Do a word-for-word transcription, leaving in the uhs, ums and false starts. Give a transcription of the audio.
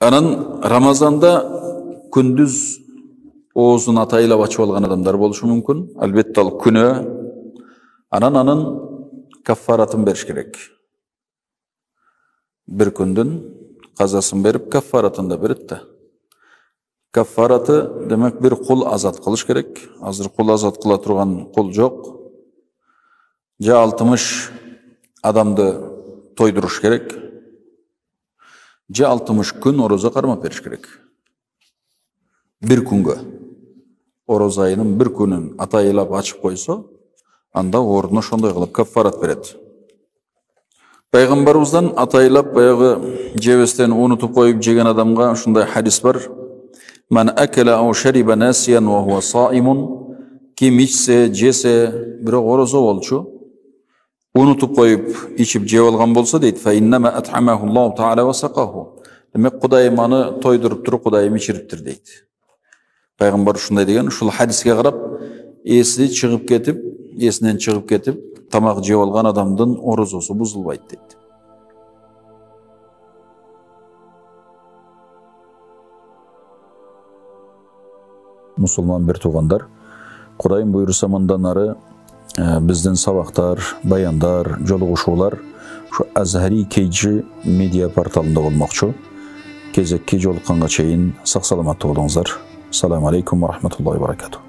Анан Рамазанда күндүз оозун атайлап ачып алган адамдар болушу мүмкүн. Албетте ал күнөө. Анан анын каффаратын бериш керек. Бир күндүн казасын берип, каффаратын да берет да. Каффараты демек бир кул азат кылыш керек. Азыр кул азат кыла турган кул жок. Же алтымыш адамды тойдуруш керек. Же алтымыш күн орозо кармап бериш керек. Бир күнгө. Ороз айынын бир күнүн атайлап ачып койсо, анда ордуна ошондой кылып каффарат берет. Пайгамбарыбыздан атайлап баягы жебестен унутуп коюп жеген адамга ушундай хадис бар. Ман акала ау шариба насиян ва хуа саимун. Ким ичсе, жесе, бирок орозо болчу, унутуп коюп ичип жеп алган болсо дейт, фа иннама ат'амаху Аллаху таала ва сакаху. Демек Кудайым аны тойдуруп туруп, Кудайым ичириптир дейт. Пайгамбар ушундай деген, ушул хадиске карап, эси чыгып кетип, эсинен чыгып кетип, тамак жеп алган адамдын орозосу бузулбайт дейт. Мусулман бир туугандар, Кудайым буйруса мындан ары биздин сабактар, баяндар, жолугушуулар ушу Азхари кей джи медиа порталында болмокчу. Кезекки жолукканга чейин сак саламаттуу болуңуздар. Ассаламу алейкум ва рахматуллахи ва баракатух.